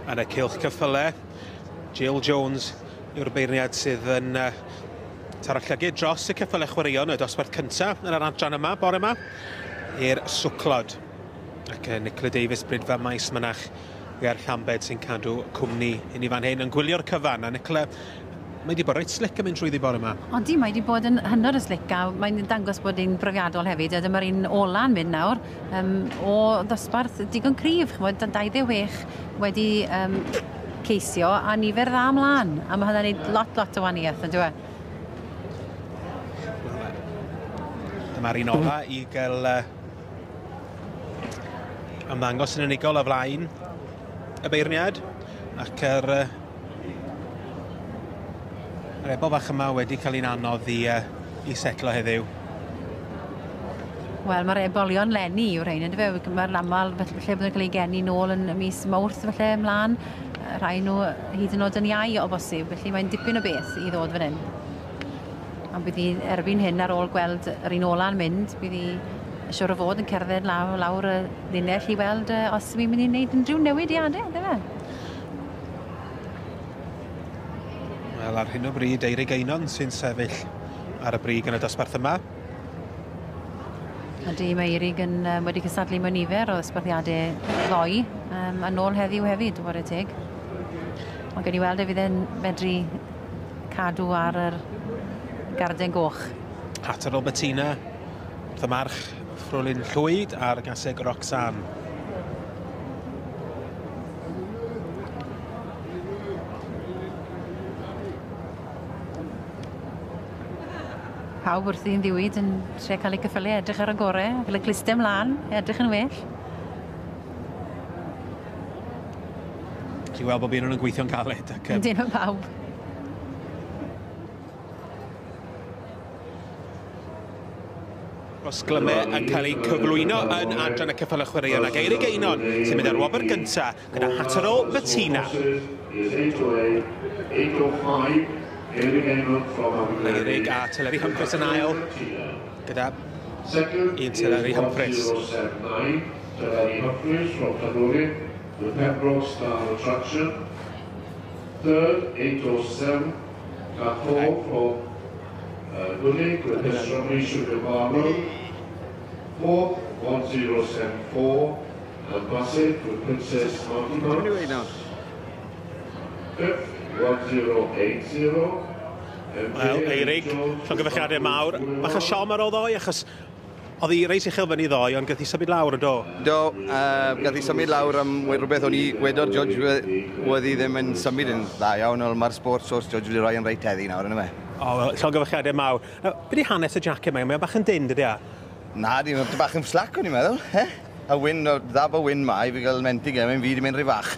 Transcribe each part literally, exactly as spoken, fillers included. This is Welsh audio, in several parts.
yn y cylch ceffyle. Jill Jones yw'r beirniad sydd yn uh, taro llygid dros y ceffyle chwaraeon y dosbarth cyntaf yn yr adran yma, bore yma, i'r swclod. Ac uh, Nicola Davies, Brydfa Maes Mynach ger Llambed sy'n cadw cwmni i ni fan hyn yn gwylio'r cyfan. A Nicola, mae wedi bod reit slick yn mynd trwyddi bore yma. Odi, mae wedi bod yn hynod o slick a mae'n dangos bod hi'n brofiadol hefyd. A dyma'r un ola'n mynd nawr um, o ddosbarth digon cryf. Ch'mod, dau ddeg chwech wedi um, ceisio a nifer dda ymlaen. A mae hynny'n neud lot, lot o wahaniaeth, yn dyw e? Dyma'r un ola i gael uh, ymddangos yn unigol o flaen y beirniad ac yr, uh, yr ebol fach yma wedi cael un anodd i, uh, i setlo heddiw. Wel, mae'r ebolion leni yw'r rhain, yndyfe? Mae'r aml lle bydd nhw'n cael eu geni nôl yn mis Mawrth felly ymlaen. Rhai nhw hyd yn oed yn iau o bosib, felly mae'n dipyn o beth i ddod fan hyn. Ond bydd hi erbyn hyn ar ôl gweld yr un ola'n mynd, bydd hi siŵr o fod yn cerdded lawr, lawr y linell i weld os yw'n mynd i wneud unrhyw newidiadau, yndyfe? Wel, ar hyn o bryd, Eirig Einon sy'n sefyll ar y brig yn y dosbarth yma. Ydy, mae Eirig yn, um, wedi cystadlu mewn nifer o ddosbarthiadau ddoe, um, a nôl heddiw hefyd, whare teg. Ond gen i weld e fydd e'n medru cadw ar yr garden goch. Hatterall Bettina, wrth y march Frolyn Llwyd a'r gaseg Roxanne. Pawb wrthi'n ddiwyd yn trio cael eu ceffylau edrych ar y gorau, cael y clustau ymlaen, edrych yn well. Ti'n gweld bod un nhw'n gweithio'n galed. Ac, um... Yndyn nhw pawb. Rosglymau yn cael eu cyflwyno yn adran y ceffylau chwaraeon ac Eirig Einon sy'n mynd ar wobr gyntaf gyda Hatterall Bettina. Eirig a Teleri Humphreys yn ail gyda un Teleri Humphreys. Teleri Humphreys from Cadogan, the Pembroke Star Attraction. Third, eight oh seven, Cathol from Gwynedd with the Strawberry Sugar Barlow. Fourth, one zero seven four, and Bassett with Princess Marty Bucks. Fifth, one zero eight zero. Wel, Eirig, llongyfarchiadau mawr. Bach o siom ar ôl ddoe, achos oedd hi reis uchel fyny ddoe, ond gath hi symud lawr yn do? Do, uh, gath hi symud lawr am rhywbeth o'n i wedo'r judge oedd hi ddim yn symud yn dda iawn, ond mae'r sports source judge wedi rhoi yn reit heddi nawr, yna fe. O, wel, llongyfarchiadau mawr. Now, be di hanes y jacket yma? Mae'n bach yn dyn, dydy a? Na, di, mae'n bach yn slack o'n i'n meddwl, he? A wyn, dda bo wyn ma, i fi gael mentig e, mae'n fi di mynd rhy fach.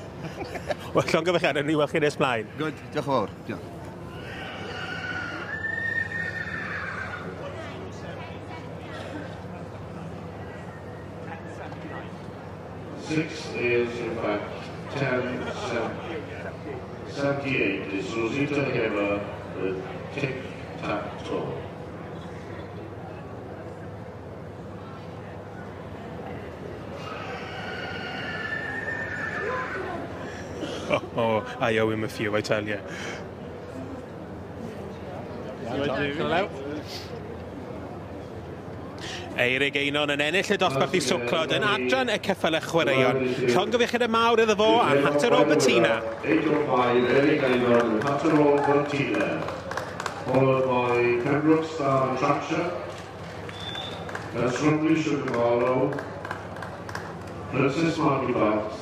Wel, llongyfarchiadau, ni weld chi nes mlaen. Good, diolch yn fawr. Diolch. Six is, in fact, ten seventy-eight is Rosita Hamer with Tic-Tac-Toe. Oh, oh, I owe him a few, I tell you. Hello. Eirig Einon yn ennill y dosbarth i swclod yn adran y ceffylau chwaraeon. Llongyfarchiadau mawr iddo fo a Hatterall Bettina. eight oh five, Eirig Einon with Hatterall Bettina. Followed by Pembroke Star Attraction, Strawberry Sugar Barlow, Princess Marty Bucks.